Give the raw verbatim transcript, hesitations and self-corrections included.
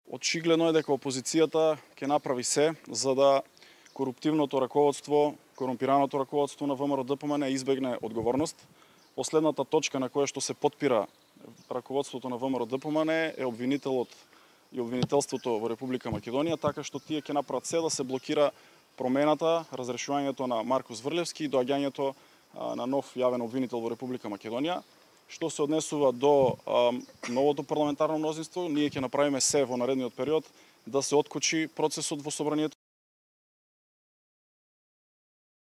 Очигледно е дека опозицијата ќе направи се за да коруптивното раководство, корумпираното раководство на ВМРО-ДПМН избегне одговорност. Последната точка на која што се потпира раководството на ВМРО-ДПМН е обвинителот и обвинителството во Република Македонија, така што тие ќе направат се да се блокира промената, разрешувањето на Маркус Врлевски и доаѓањето на нов јавен обвинител во Република Македонија. Што се однесува до а, новото парламентарно мнозинство, ние ќе направиме се во наредниот период да се откочи процесот во собранието.